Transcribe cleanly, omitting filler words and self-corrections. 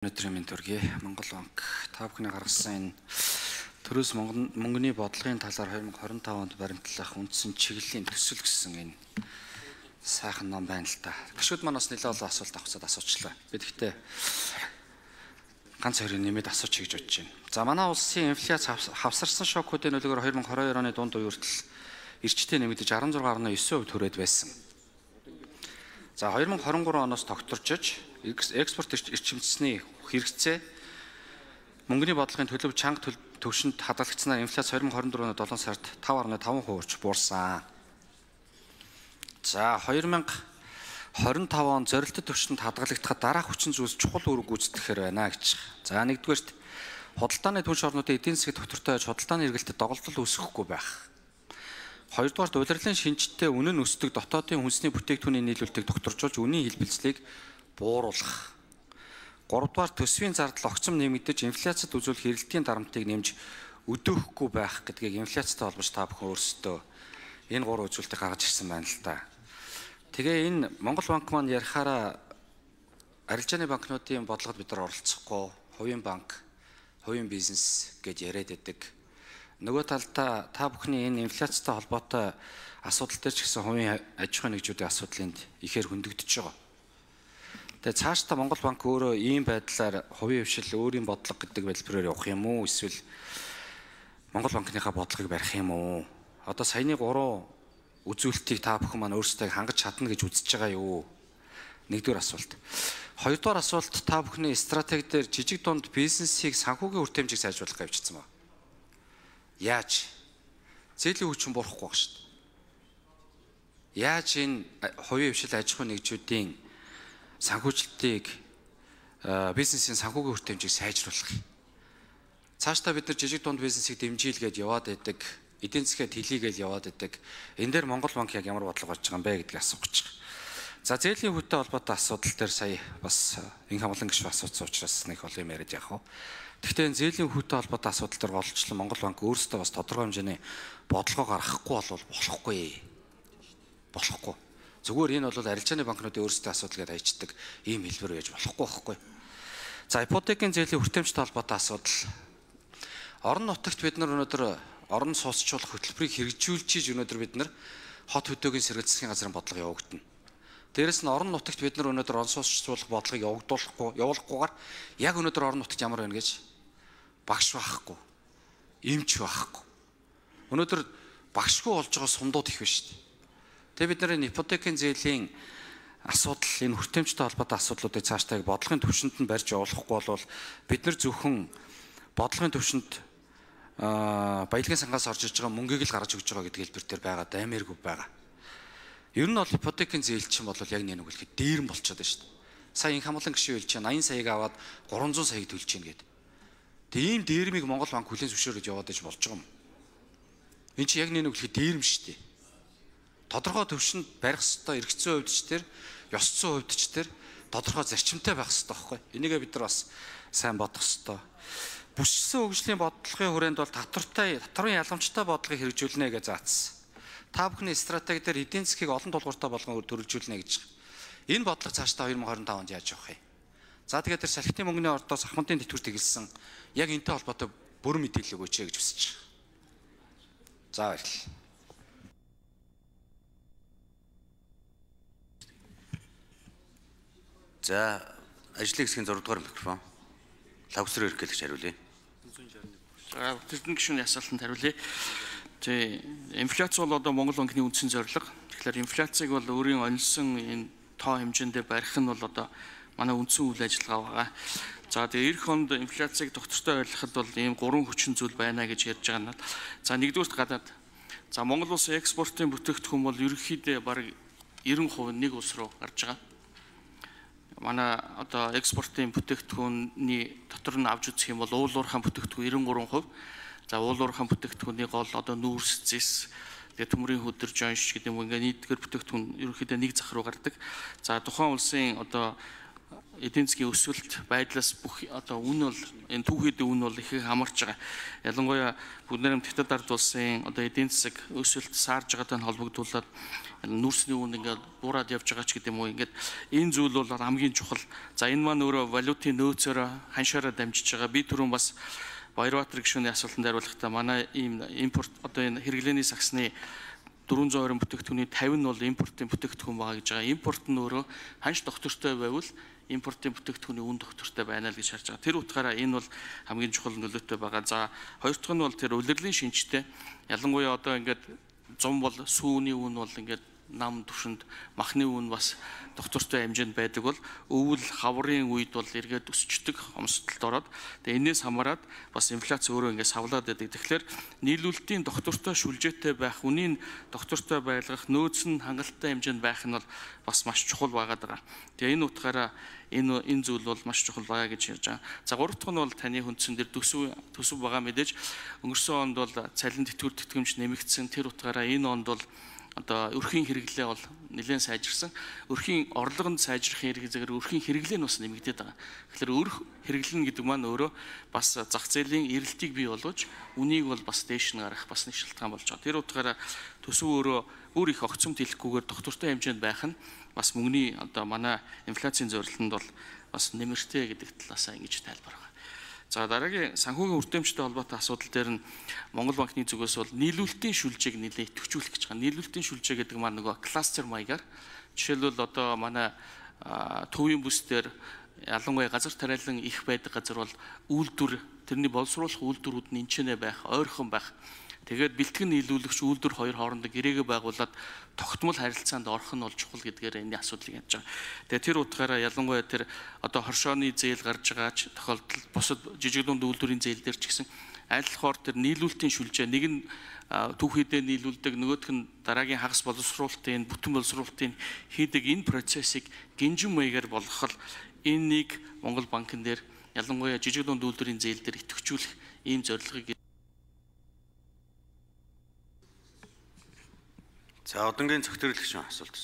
Өнөөдрийн мэнд төргий Монгол банк та бүхний гаргасан энэ төрөөс мөнгөний бодлогын талаар 2025 онд баримтлах үндсэн чиглэлийн төсөл гэсэн энэ сайхан ном байна л да. Гишүүд маань бас нэлээд олон асуулт авцад асуучлаа. Би гэхдээ ганц хоёрыг нэмээд асуучих гэж бодож байна. За манай улсын инфляц хавсарсан шокуудын нөлөөгөөр 2022 оны дунд үе хүртэл эрчтэй нэмэгдэж 16.9% төрөөд байсан. За 2023 оноос тогтворчж экспорт эрчимчсний хэрэгцээ мөнгөний бодлогын төлөв чанга төвшөнд хадгалагдсанаар инфляц 2024 оны 7 сард 5.5% буурсан. За 2025 он зорилттой төвшөнд хадгалагдахад дараах хүчин зүйлс чухал үүрэг гүйцэтгэхээр байна гэж. За нэгдүгээрт худалдааны түнш орнуудын эдийн засгийн доктортой худалдааны эргэлтэд доголдол үүсэхгүй байх. Хоёрдугаарт улирлын шинжтэй үнэн өсдөг дотоодын хүнсний бүтээгдэхүүний нийлүүлэлтийг докторжуулж үнийн хэлбэлцлийг бууруулах. Гуравдугаар төсвийн зардал огцом нэмэгдэж инфляцид үзүүлэх эрэлтийн дарамтыг нэмж өдөөхгүй байх гэдгийг инфляцтай холбож та бүхэн өөрсдөө энэ гурван үзүүлэлтийг гаргаж ирсэн байна л да. Тэгээ энэ Монгол банк маань ярихаараа арилжааны банкнуудын бодлогод бид нар оролцохгүй, хувийн банк, хувийн бизнес гэж яриад байдаг. Нөгөө талдаа та бүхний энэ инфляцтай холбоотой асуудал дээр ч гэсэн хувийн аж ахуйн нэгжүүдийн асуудлынд ихээр хөндөгдөж байгаа. Тэгээ цаашдаа Монгол банк өөрөө ийм байдлаар хувийн хвшил өөрийн бодлого гэдэг хэлбэрээр явах юм уу? Эсвэл Монгол банкныхаа бодлогыг барих юм уу? Одоо саяны 3 үзүүлэлтийг та бүхэн маань өөрсдөө хангаж чадна гэж үзэж байгаа юу? Нэгдүгээр асуулт. Хоёрдугаар асуулт та бүхний стратеги дээр жижиг дунд бизнесийг санхүүгийн үр хэмжээг сайжруулах гэж бичсэн байна. Яаж? Зээлийн хүчин бурахгүй баг шүү дээ. Яаж энэ хувийн хвшил аж ахуйн нэгжүүдийн санхүүжилтийг бизнесийн санхүүгийн үр хэмжээг сайжруулах юм. Цаашдаа бид нар жижиг дунд бизнесийг дэмжийлгээд яваад байдаг, эдийн засгийн тэлийгээл яваад байдаг. Энэ дээр Монгол банк яг ямар бодлого гарч байгаа юм бэ гэдгийг асуух гэж байна. За зээлийн хүнтэй холбоотой асуудал дээр сая бас инх хамглан гишүүн асуусан учраас нэг олон юм яриад явах. Гэхдээ энэ зээлийн хүнтэй холбоотой асуудал дээр голчлон Монгол банк өөрсдөө бас тодорхой хэмжээний бодлогоо гаргахгүй бол болохгүй. Болохгүй. Зүгээр энэ бол арилжааны банкнуудын өөрсдөө асуудал гэдээ хайчдаг ийм хэлбэр байж болохгүй байхгүй. За ипотекийн зээлийн хүртээмжтэй холбоотой асуудал. Орон нутагт бид нар өнөөдөр орон сууцчлуулах хөтөлбөрийг хэрэгжүүлж өнөөдөр бид нар хот хөдөөгийн сэргээл засгийн газрын бодлого явагдана. Дээрэс нь орон нутагт бид нар өнөөдөр орон сууцчлуулах бодлогыг явуулахгүйгээр яг өнөөдөр орон нутагт ямар байна гэж багш байхгүй, эмч байхгүй. Өнөөдөр багшгүй болж байгаа сундууд их байна шүү дээ. Тэгээ бид нарын ипотекийн зээлийн асуудал, энэ хүртээмжтэй холбоотой асуудлуудыг цаашдаа бодлогын түвшинд нь барьж явуулахгүй бол бид нар зөвхөн бодлогын түвшинд баялагын сангаас орж иж байгаа мөнгийг л гаргаж өгч байгаа гэдэг хэлбэр дээр байгаа даймааргүй байгаа. Ер нь бол ипотекийн зээл чинь бол яг нэг хэлэхэд дээрэн болчиход байна шүү дээ. Сая инх хамглан гишүүн хэлж чинь 80 саяг аваад 300 саяг төлж чинь гэдэг. Тэгээ ийм дээрмийг Монгол банк хүлээн зөвшөөрөж яваад иж болж байгаа юм. Энд чинь яг нэг хэлэхэд дээрм шүү дээ. Тодорхой төвшөнд барих ёстой эргэцсэн хувьд ч тэр, ёсцсон хувьд ч тэр тодорхой зарчимтай байх ёстой байхгүй. Энийгээ бид нар бас сайн бодох ёстой. Бүсчсэн хөгжлийн бодлогын хүрээнд бол татварын яламжтай бодлогыг хэрэгжүүлнэ гэж заасан. Та бүхний стратеги дээр эдийн засгийг олон тулгууртай болгон төрөлжүүлнэ гэж. Энэ бодлого цаашдаа 2025 онд яаж явах юм? За тэгээд тэр салхитын мөнгөний ордоос ахмадын тэтгэврт тэгэлсэн яг энэтэй холбоотой бүрэн мэдээлэл өгөөч гэж хүсэж байна. За баярлалаа. За ажлын хэсгийн 6 дугаар микрофон. Лавсрын эрхлэгч хариулъя. За Тэрдэн гишүүний асуултанд хариулъя. Инфляц бол одоо Монгол банкны үндсэн зорилго. Тэгэхээр инфляцийг бол өөрийн онилсон энэ тоо хэмжээндээ барих нь бол одоо манай үндсэн үйл ажиллагаа байгаа. За тэгээ эх хонд инфляцийг доктортой ойлгоход бол ийм 3 хүчин зүйл байна гэж ярьж байгаа нь. За нэгдүгürt гадаад. За Монгол улсын экспортын бүтээгдэхүүн бол ерөнхийдөө бараг 90% нэг улс руу гарч байгаа. Манай одоо экспортын бүтээгдэхүүний дотор нь авч үзэх юм бол уул уурхайн бүтээгдэхүүн 93%. За уул уурхайн бүтээгдэхүүний гол одоо нүүрс, зэс, тэгээ төмрийн хөдөр, жонш гэдэг юм ингээд нийтгэр бүтээгдэхүүн ерөнхийдөө нэг зах руу гардаг. За тухайн улсын одоо эдийн засгийн өсөлт байдлаас бүх одоо үн бол энэ түүхийдээ үн бол их хамарч байгаа. Ялангуяа бүгд найрамд хятад ард улсын одоо эдийн засаг өсөлт саарж байгаатай холбогдуулаад нүүрсний үн ингээд буураад явж байгаа ч гэдэг юм уу. Ингээд энэ зүйл бол хамгийн чухал. За энэ маань өөрөө валютын нөөцөөр ханшаараа дамжиж байгаа. Би түрүүн бас Баярбаатар гишүүний асуултанд хариулахдаа манай ийм импорт одоо энэ хэрэглээний саксны 420 бүтээгдэхүүний 50 нь бол импортын бүтээгдэхүүн байгаа гэж байгаа. Импорт нь өөрөө ханш доктортой байвал импортын бүтээгдэхүүний үн доктортой байна л гэж харж байгаа. Тэр утгаараа энэ бол хамгийн чухал нөлөөтэй байгаа. За хоёр дахь нь бол тэр улирлын шинжтэй. Ялангуяа одоо ингээд зам бол сүүний үн бол ингээд нам төвшөнд махны үн бас доктортой хэмжээнд байдаг бол өвөл хаврын үед бол эргээд өсчдөг хомсдолд ороод тэгээ энээс хамаарат бас инфляц өөрөө ингээд савлаад байдаг. Тэгэхээр нийлүүлэлтийн доктортой шүлжээтэй байх, үнийн доктортой байлгах, нөөц нь хангалттай хэмжээнд байх нь бол бас маш чухал байгаад байгаа. Тэгээ энэ утгаараа энэ зүйл бол маш чухал байгаа гэж ярьж байгаа. За гурав дахь нь бол таны хүндсэн дээр төсөв байгаа мэдээж өнгөрсөн онд бол цалин тэтгэвэр тэтгэмж нэмэгдсэн. Тэр утгаараа энэ онд бол одоо өрхийн хэрэглээ бол нэлээд сайжирсан. Өрхийн орлогонд сайжрахын хэрэг зэрэг өрхийн хэрэглээ нь бас нэмэгдээд байгаа. Тэгэхээр өрх хэрэглэн гэдэг маань өөрөө бас зах зээлийн эрэлтийг бий болгож үнийг бол бас дээш нь гарах бас нэг шалтгаан болж байгаа. Тэр утгаараа төсөв өөрөө бүр их огцомт хэлэхгүйгээр доктортой хэмжээнд байх нь бас мөнгөний одоо манай инфляцийн зорилтонд бол бас нэмэртэй гэдэг талаасаа ингэж тайлбар байгаа. За дараагийн санхүүгийн үрдэмжтэй холбоотой асуудал дээр нь Монгол банкны зүгээс бол нийлүүлэлтийн шүлжээг нэлээд идэвхжүүлэх гэж байгаа. Нийлүүлэлтийн шүлжээ гэдэг маань нөгөө кластер маягаар жишээлбэл одоо манай төвийн бүс дээр ялангуяа газар тариалан их байдаг газар бол үйлдвэр тэрний боловсруулах үйлдвэрүүд нь энчнэ байх, ойрхон байх. Тэгээд бэлтгэн нийлүүлэгч үйлдвэр хоёр хоорондоо гэрээгээ байгуулад тогтмол харилцаанд орох нь бол чухал гэдгээр энэ асуудлыг ярьж байгаа. Тэгээд тэр утгаараа ялангуяа тэр одоо хоршооны зээл гарч байгаа ч тохиолдолд бусад жижиг дунд үйлдвэрийн зээл дээр ч гэсэн айлхоор тэр нийлүүлэлтийн шүлжээ нэг нь түүхийдээ нийлүүлдэг, нөгөөх нь дараагийн хагас боловсруулалтын, бүтэн боловсруулалтын хийдэг энэ процессыг гинжин маягаар болгохол энэ нэг Монгол банкн дээр ялангуяа жижиг дунд үйлдвэрийн зээл дээр идэвхжүүлэх ийм зорилгыг За одонгийн зөвтөрлөгч асуулт